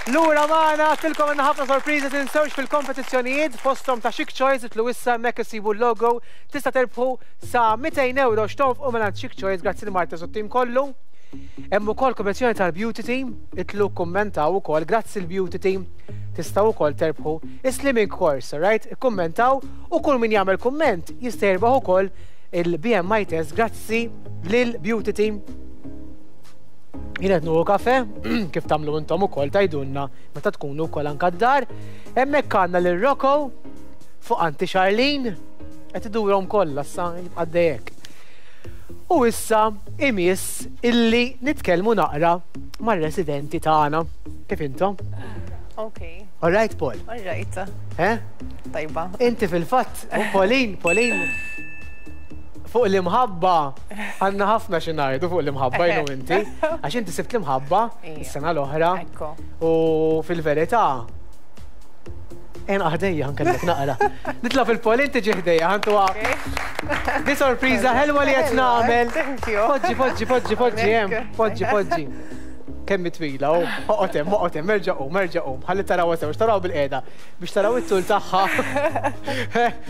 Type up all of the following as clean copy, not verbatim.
Lura magħna, għedtilkom għandna ħafna sorpriżi tinsewx fil-kompetizzjonijiet fosthom ta' Chic Choice itilgħu issa hemmhekk issibu l-logo tista' terbħu sa 200 euro x'tonfqu mingħand Chic Choice grazzi lil Marta u t-tim kollu. Hemm ukoll kompetizzjoni tal-Beauty Team, itilgħu kkummentaw ukoll grazzi l-Beauty Team tistgħu wkoll terbħu is-slimming course, alright? Ikkummentaw u kull min jagħmel kumment jista' jirbaħ ukoll il-BMI test grazzi lil Beauty Team. Jien qed nieħu kafe, kif tagħmlu intom ukoll tgħidulna meta tkunu wkoll anke d-dar. Hemmhekk għandna lil Rocco fuq Anti Charlene qed idurhom kollha issa jibqa' dejjek. U issa imiss illi nitkellmu naqra mar-residenti tagħna. Kif intom? Ok. All right, Paul. All right. Eh? Tajba. Inti fil-fatt, Pauline, Pauline, fuq l-imħabba, għandna ħafna xi ngħidu fuq l-imħabba jien u inti, għax inti sibt l-imħabba is-sena l-oħra. U fil-verità, En ħdejja nkellek naqra. Nitla fil-Pauline tiġi ħdejja, ħantu Di sorpriża ħelwa li qed nagħmel. Poġġi, poġġi, poġġi, poġġi, hemm, poġġi, poġġi. Kemm twila, u oqgħod hemm, oqgħod hemm, erġa' qum, erġa' qum, ħalli taraw sew, taraw bil-qiegħda biex taraw it-tul tagħha.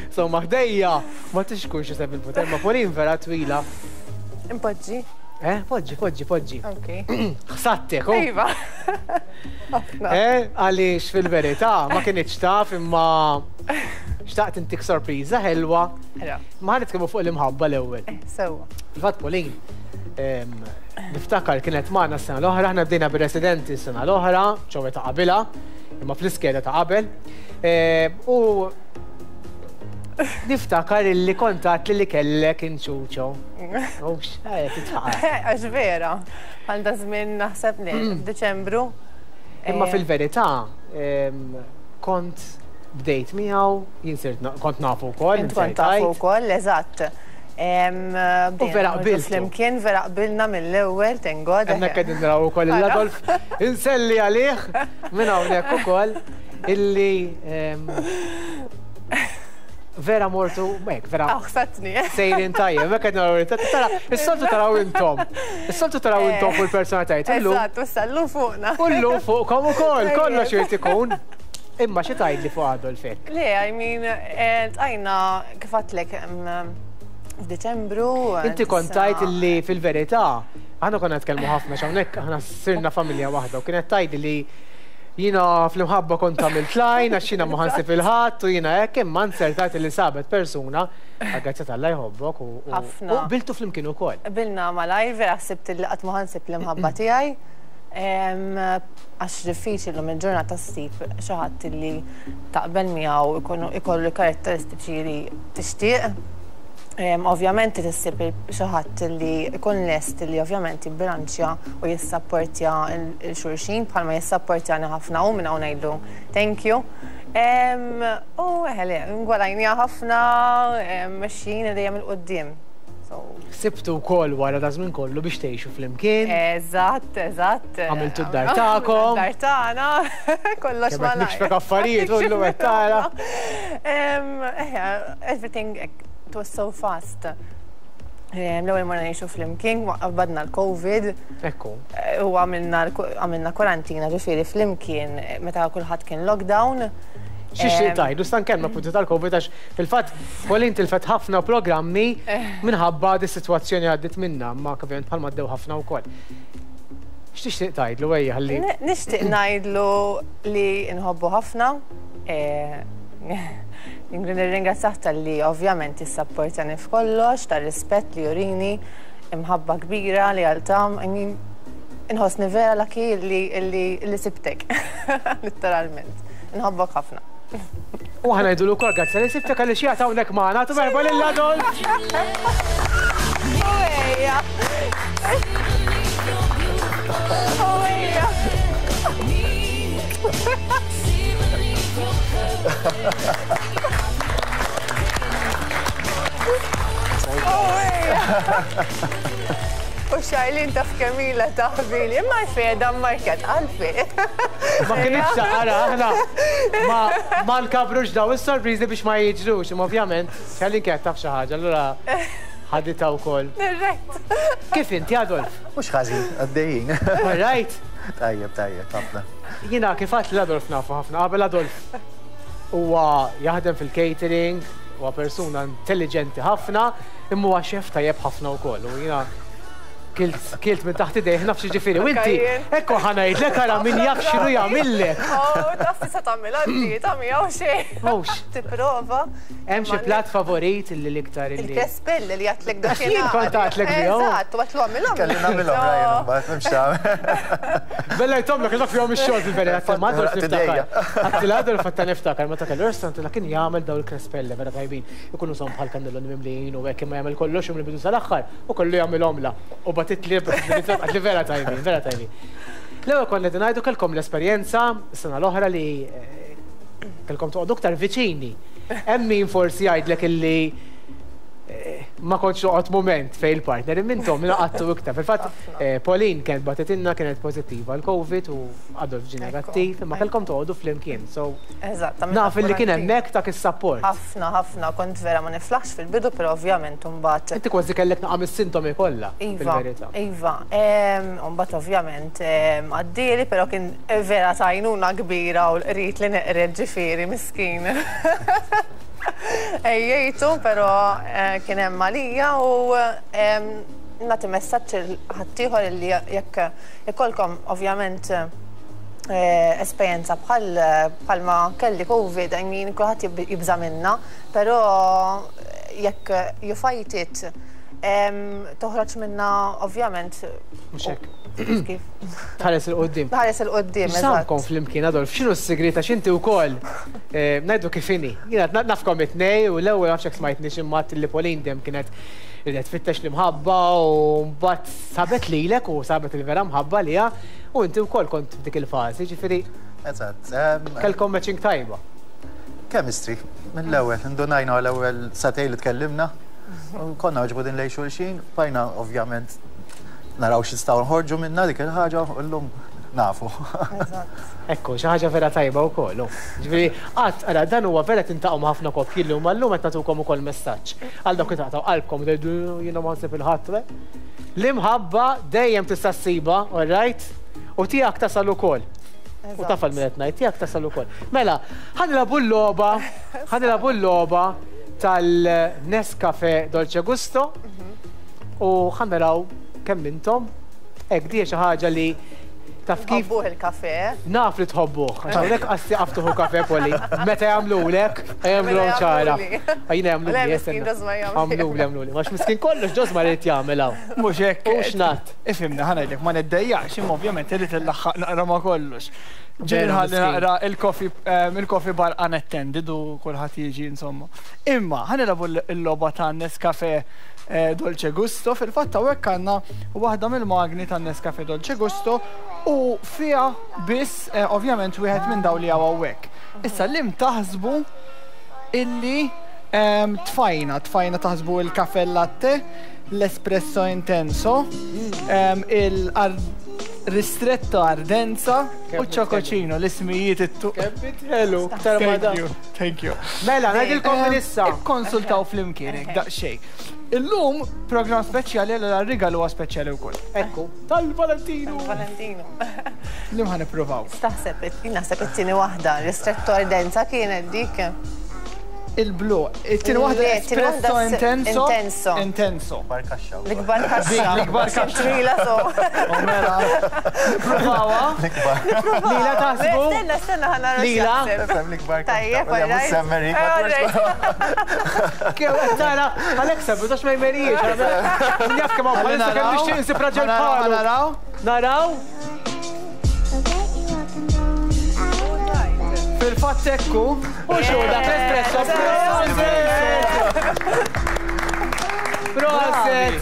Insomma, ħdejja ma tix tkun xi seven foot, imma Pauline vera twila. Impoġġi. Eh, poġġi, poġġi, poġġi. Ok. Ħsattek, oh. Iva. Eh, għaliex fil-verità ma kinitx taf imma xtaqt intik sorpriża ħelwa. Ma nitkellmu fuq l-imħabba l-ewwel. Eh, sewwa. Fil-fatt Pauline, niftakar kienet magħna s-sena l-oħra, aħna bdejna bir-residenti s-sena l-oħra, ċowe ta' qabilha, imma fl-iskeda ta' qabel. U niftakar illi kontat li li kellek inċuċo. Ux, eh, titħaq. Għax vera, għal da żmien naħseb li f'Diċembru. Imma fil-verità, kont bdejt miegħu, jien sirt kont nafu wkoll. Int kont tafu wkoll, eżatt. U vera qbiltu. Flimkien vera qbilna mill-ewwel, thank God. Hemmhekk qegħdin naraw ukoll il-Adolf. Inselli għalih minn hawnhekk ukoll illi vera mortu, hekk, vera. Aħsatni. Sejrin tajjeb, hekk qed naraw tara, is-soltu taraw intom. Is-soltu taraw intom fuq il-persona tajt. Eżatt, u issa fuqna. U llum fuqkom ukoll, kollox irid ikun. Imma xi tgħidli fuq Adolf hekk? Le, I mean, eh, tqajna kif għedtlek f'Diċembru. Inti kont tgħid li fil-verità, aħna konna nitkellmu ħafna x'hawnhekk aħna sirna familja waħda u kienet tgħidli li jiena fl-imħabba kont għamilt lajn għax jiena ma ħansib il-ħadd u jiena hekk imma nsertat li sabet persuna għal-grazzja t'Alla jħobbok u Ħafna. u qbiltu flimkien ukoll. Qbilna malajr, vera ħsibt li qatt ma ħansib l-imħabba tiegħi. Għax diffiċli llum il-ġurnata ssib xi ħadd li taqbel miegħu ikollu l-karatteristiċi li tixtieq. Ovvjament trid issib xi ħadd li jkun lest li ovvjament jibbilanċja u jissapportja 'l xulxin bħalma jissapportjani ħafna hu minn hawn ngħidlu thank you. U eħe le, ngwalajniha ħafna, mexjin dejjem 'il quddiem. Sibtu wkoll wara da żmien kollu biex tgħixu flimkien. Eżatt, eżatt. Għamiltu d-dar tagħkom. Dar tagħna, kollox ma. Nikxfek affarijiet u llum qed tara. Everything it was so fast. L-ewwel morna ngħixu flimkien, badna l-Covid. Ekku. U għamilna kwarantina ġifieri flimkien meta kulħadd kien lockdown. Xi xi tajdu, stan kelma punti tal-Covid għax fil-fatt Pauline tilfet ħafna programmi minħabba di sitwazzjoni għaddit minna, ma ovvjament bħalma għaddew ħafna wkoll. X'tixtieq tgħidlu ejja ħalli. Nixtieq ngħidlu li nħobbu ħafna. Nirringrazzjah talli ovvjament jissapportjani f'kollox, tar-rispett li jurini, imħabba kbira li għalta, I mean, inħossni vera lucky li sibtek, literalment. Nħobbok ħafna. U aħna ngħidulu wkoll grazzi li sibtek għaliex qiegħed hawnhekk magħna. Agħtu merħba lil Adolf! Ejja! Ejja! U Charlene taf kemm ilha taħbili, imma għalfejn qiegħda mmarkat għalfejn. Ma kinitx taqara aħna ma ma nkabrux daw is-sorpriżi biex ma jiġrux, imma ovvjament Charlene kienet taf xi ħaġa, allura. Ħaditha wkoll. Dirett. Kif inti, Adolf? Mhux ħażin, għaddejjin. All right? Tajjeb, tajjeb, ħafna. Jiena kif għedt lil Adolf nafu ħafna qabel Adolf huwa jaħdem fil-catering, huwa persuna intelligenti ħafna, imma huwa xef tajjeb ħafna wkoll. U jiena kilt kilt minn taħt idejh naf x'jiġifieri. U inti, ekku ħa ngħidlek ara min jaf x'inhu jagħmillek. Oh, taf tista' tagħmilha d-dieta miegħu xejn. Mhux. Tipprova. Hemm xi platt favorit li l-iktar illi. Il-crespelle li għedtlek dakinhar. Għax jien kont għedtlek bihom. Eżatt, u għedtlu għamilhom. Kelli nagħmilhom Ryan imbagħad m'hemmx tagħmel. Bella jtomlok għax fihom ix-xogħol fil-verità. Ma Adolf niftakar. Għedtilha Adolf għadta niftakar meta kellu restaurant għedtilha kien jagħmel dawn il-crespelle vera tajbin. Ikunu son bħal kannelloni mimlijin u hekk imma jagħmel kollox u mill-bidu sal-aħħar u kollu jagħmilhomlha. U bagħtitli għedtli vera tajbin, vera tajbin. L-ewwel konna qegħdin ngħidu kellkom l-esperjenza s-sena l-oħra li Kellkom toqgħodu aktar viċini. Hemm min forsi jgħidlek illi eh, ma kontx noqgħod mument fejn il-partner imma intom naqattu iktar. Fil-fatt eh, Pauline kienet bagħtitilna kienet pożittiva għal Covid u Adolf ġie negattiv, imma kellkom toqgħodu flimkien. So Eżatt, naf illi kien hemmhekk dak is-sapport. Ħafna, ħafna, kont vera ma niflaħx fil-bidu, però ovvjament imbagħad. Inti kważi kellek naqa' mis-sintomi kollha. Iva, iva. Imbagħad ovvjament għaddieli, però kien Vera ta' għajnuna kbira u l-qrid li neqred ġifieri miskin. Ejjejtu, però kien hemm għalija u nagħti messaġġ lil ħaddieħor li jekk ikollkom ovvjament esperjenza bħal bħalma kelli Covid, I mean kulħadd jibża' minnha, però jekk you fight it toħroġ minnha ovvjament. Mhux hekk. Kif? Tħares 'il quddiem. Tħares 'il quddiem, eżatt. X'samkom flimkien, Adolf, x'inhu s-sigriet għax inti wkoll eh, ngħidu kif inhi. Jiena nafkom it-tnej u l-ewwel nafx hekk smajtni xi mat li Pauline dejjem kienet ridet tfittex l-imħabba u mbagħad sabet lilek u sabet il-vera mħabba liha u inti wkoll kont f'dik il-fażi, ġifieri. Eżatt. Kellkom matching tajba. Chemistry, mill-ewwel, indunajna l-ewwel sagħtejn li tkellimna, konna għoġbudin lejn xulxin, bqajna ovvjament naraw x'nistgħu nħorġu minnha dik il-ħaġa u llum nafu. Ekku, xi ħaġa vera tajba wkoll. Ġifieri, qatt ara dan huwa vera tintaqgħu ma' ħafna koppji llum, ma llum qed nagħtukom ukoll messaġġ. Għal dawk li taqtgħu qalbkom u tgħidu jiena ma nsib il-ħadd. L-imħabba dejjem tista' ssibha, all right? U tiegħek tasal ukoll. U taf għal min qed ngħid, tiegħek tasal ukoll. Mela, ħa nilagħbu l-logħba, ħa nilagħbu l-logħba tal-Nescafe Dolce Gusto. U ħa naraw kemm intom hekk di xi ħaġa li taf kif. Tħobbuh il-kafe. Naf li tħobbuh. Għax hawnhekk qas tieqaf tieħu kafe Poli. Meta jagħmlulek, jagħmluhom ċara. Jiena jagħmluli. Le miskin Ġosma jagħmel. Għamluli, għamluli. Għax miskin kollox Ġosma jrid jagħmel hawn. Mhux hekk. U x'ngħad. Ifhimni ħa ngħidlek ma niddejjaqx imma ovvjament irrid inlaħħaq naqra ma' kollox. Ġieli nħalli naqra il-coffee il-coffee bar unattended u kulħadd jiġi insomma. Imma ħa nilagħbu l-logħba ta' Nescafe Dolce Gusto, fil-fatt hawnhekk għandna waħda mill-magni ta' Nescafe Dolce Gusto u fiha biss ovvjament wieħed minn dawn li hawn hawnhekk. Issa lim taħsbu illi tfajna, tfajna taħsbu il-caffè latte, l-espresso intenso, il-ristretto ardenza u ċ-ċokoċino, l-ismijiet it-tu. Kemm ħelu, ktar ma Thank you, thank you. Mela, ngħidilkom minn issa. Ikkonsultaw flimkien hekk daqsxejn. Illum programm speċjali allura r-rigal huwa speċjali wkoll. Ekku, tal-Valentinu. Valentinu. Lim ħa nippruvaw. Taħseb, naħseb it-tieni waħda, ristretto ardenza kienet dik. Il-blu. It-tieni waħda espresso intenso. Intenso. Intenso. L-ikbar kaxxa. L-ikbar kaxxa. L-ikbar kaxxa. Twila so. U mela. Nipprovawha. L-ikbar. Lila taħsbu? Stenna, stenna ħa nara. Lila. L-ikbar kaxxa. Tajjeb, Kew qed tara, Alexa, bidax ma jmerijiex. Jaf kemm hawn bħalissa kemm nixtieq insib raġel bħalu. Naraw. Naraw. Fil-fatt ekku. U xu dak l-espresso. Proset!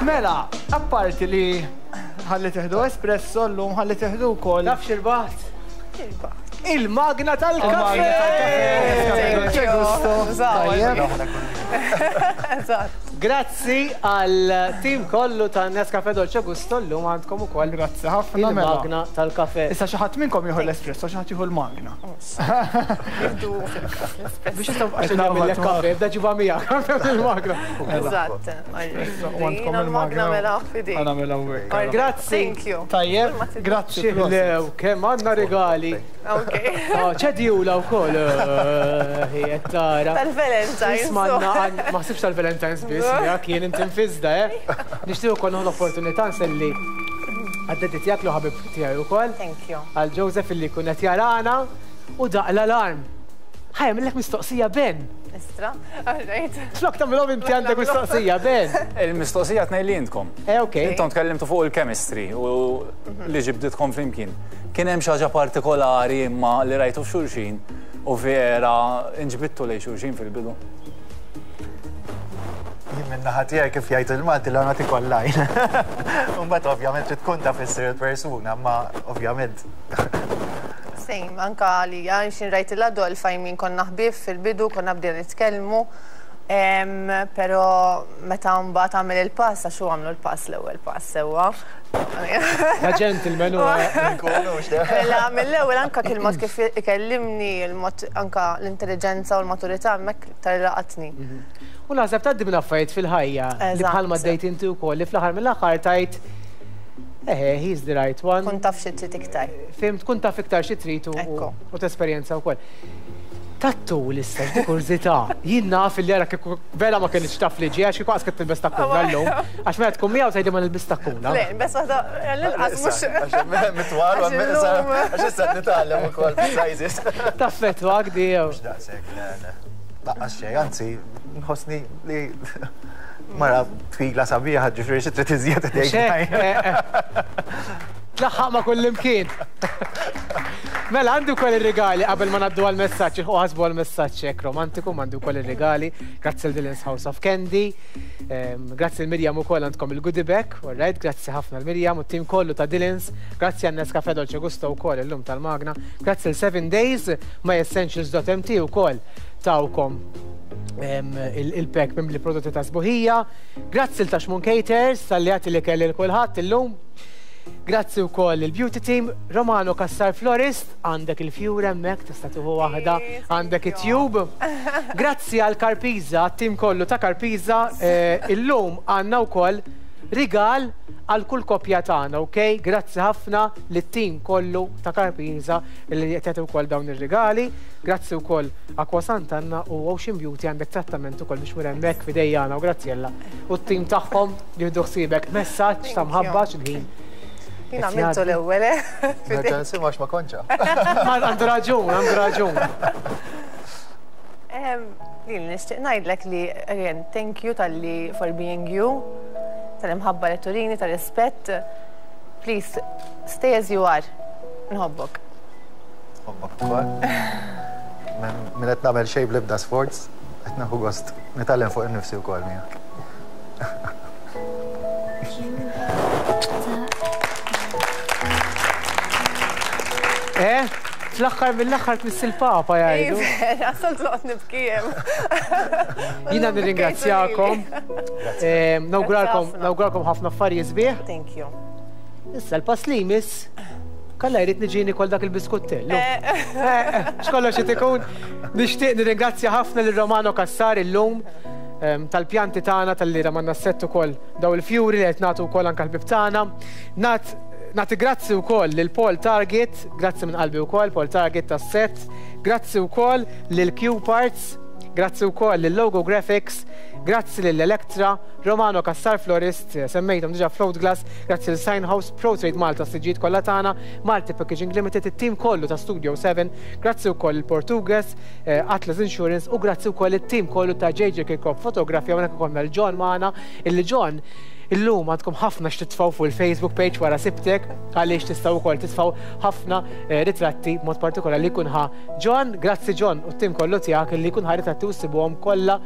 Mela, apparti li ħalli teħdu espresso llum ħalli teħdu wkoll. Taf x'irbaħt? Il-magna tal-kafe! Dolce gusto. Tajjeb. Eżatt. Grazzi għal tim kollu ta' Nescafe Dolce Gusto llum għandkom ukoll. Grazzi ħafna mela. Il-magna tal-kafe. Issa xi ħadd minnkom jieħu l-espresso, xi ħadd jieħu l-magna. Jieħdu fil-każ l-espresso. Biex issa għax nagħmel kafe, bda ġibha miegħek il-magna. Eżatt. Għandkom il-magna mela f'idejk. Għana mela hawnhekk. Grazzi. Thank you. Tajjeb, grazzi. Xi kemm għandna rigali. Ok. Oh, ċedjula u koll. Eh, tara. Tal-Valentine's. Ma ħsibx tal-Valentine's biss, ja, kien inti nfizda, eh. Nixtieq ukoll nieħu l-opportunità nselli għad-dedi tiegħek li ħabib tiegħi wkoll. Thank you. Għal Joseph illi jkun qed jarana u daq l-alarm. Ħa jagħmillek mistoqsija Ben. Istra, all right. Flok tagħmilhom inti għandek mistoqsija Ben. Il-mistoqsija tnejn li intkom. Eh, ok. Intom tkellimtu fuq il-chemistry u li ġibditkom flimkien. Kien hemm xi ħaġa partikolari imma li rajtu f'xulxin u vera inġbidtu lejn xulxin fil-bidu? Jien min-naħa tiegħi kif jgħid il-Malti l nagħti kollajn. Imbagħad ovvjament trid tkun taf issir il-persuna, imma ovvjament. Same, anka għalija, xin rajt il-Adolf, I mean, konna ħbieb fil-bidu, konna bdejna nitkellmu, pero meta mbagħad għamel il-pass, għax hu għamlu l-pass l-ewwel pass sewwa. Ta' gentleman u. Mela mill-ewwel anka kien mod kif ikellimni, il-mod anka l-intelligenza u l-maturità hemmhekk iktar laqatni. U naħseb tgħaddi minn affarijiet fil-ħajja li bħalma għaddejt inti wkoll li fl-aħħar mill-aħħar tgħid eħe, he's the right one. Tkun taf xi trid iktar. Fhimt, tkun taf iktar xi trid u tesperjenza wkoll. Tat-tul issa, x'di kurżità. Jien naf illi ara kieku vera ma kinitx taf li ġie għax kieku qas kien tilbes takkuna llum. Għax meta tkun miegħu tgħidli ma nilbis takkuna. Le, nbes waħda l-inqas mhux. Għax mitwal għax issa nitgħallem ukoll sizes. Taffettwak di jew. Mhux daqshekk, le, le. Laqqas xejn, anzi, nħossni li mara twila sabiħa ġifieri xi trid iżjed tgħid. Tlaħħaq ma' kullimkien. Mela, għandi wkoll ir-rigali qabel ma ngħaddu għall-messaġġ, ilħqu ħasbu għall-messaġġ hekk romantiku, ma għandi wkoll ir-rigali. Grazzi l Dylan's House of Candy. Grazzi l Mirjam ukoll għandkom il-goodie bag, all right, grazzi ħafna l Mirjam u t-tim kollu ta' Dylan's. Grazzi għan Nescafe Dolce Gusto wkoll illum tal-Magna. Grazzi l 7 Days, myessentials.mt ukoll tawkom il-pack mimli prodotti ta' sbuħija. Grazzi l Taxmun Caters tal-li għati li kelli l-kulħadd illum. Grazzi wkoll il-Beauty Team, Romano Cassar Florist, għandek il-fjur hemmhekk tista' tieħu waħda, għandek it-tube. Grazzi għal Karpiza, tim kollu ta' Karpiza, eh, illum għandna wkoll rigal għal kull koppja tagħna, ok? Grazzi ħafna lit-tim kollu ta' Karpiza li qed jagħti wkoll dawn ir-rigali. Grazzi wkoll Aqua Sant'Anna u Ocean Beauty għandek trattament ukoll biex mur hemmhekk f'idejjana u Graziella u t-tim tagħhom jieħdu ħsiebek. Messaġġ ta' mħabba x'il-ħin. Jien għamiltu l-ewwel, eh? Nerġa' nisimgħu għax ma kontx. Għandu raġun, għandu raġun. Lili nixtieq ngħidlek li again thank you talli for being you, tal-imħabba li turini, tal-rispett. Please stay as you are. Nħobbok. Nħobbok ukoll. Min qed nagħmel xejn bl-ebda sforz, qed nieħu gost nitgħallem fuq innifsi wkoll miegħek. Eh? Fl-aħħar mill-aħħar tmiss il-Papa jgħidu. Vera, soltu noqgħod nibki hemm. Jiena nirringrazzjakom. Eh, nawguralkom nawguralkom ħafna affarijiet sbieħ. Thank you. Issa l-pass li jmiss kalla jrid niġi nikol dak il-biskuttellu. Eh, eh, x'kollox qed ikun. Nixtieq nirringrazzja ħafna lil Romano Cassar illum ehm, tal-pjanti tagħna tal-li ramanna s-sett ukoll daw il-fjuri li qed nagħtu wkoll anke l-bib tagħna. Nat Nagħti grazzi wkoll lil Paul Target, grazzi minn qalbi wkoll Paul Target tas-sett, grazzi wkoll lil Q Parts, grazzi wkoll lil Logo Graphics, grazzi lil Electra, Romano Cassar Florist, semmejthom diġà Float Glass, grazzi lil Sign House, Pro Trade Malta s-siġġijiet kollha tagħna, Malti Packaging Limited, it-tim kollu ta' Studio 7, grazzi wkoll lil Portugues, Atlas Insurance u grazzi wkoll lit-tim kollu ta' JJ Kirkop Photography hawnhekk ikollna lil John magħna, illi John illum għandkom ħafna x'titfgħu fuq il-Facebook page wara sibtek għaliex tistgħu wkoll titfgħu ħafna ritratti b'mod partikolari li jkun ħa John, grazzi John u t-tim kollu tiegħek illi jkun ħa ritratti u ssibuhom kollha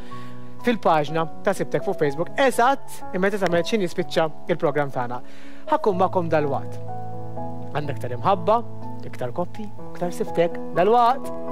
fil-paġna ta' Sibtek fuq Facebook eżatt immedjatament x'ħin jispiċċa il-programm tagħna. Ħa nkun magħkom dalwaqt. Għandna iktar imħabba, iktar koppji, iktar Sibtek dalwaqt.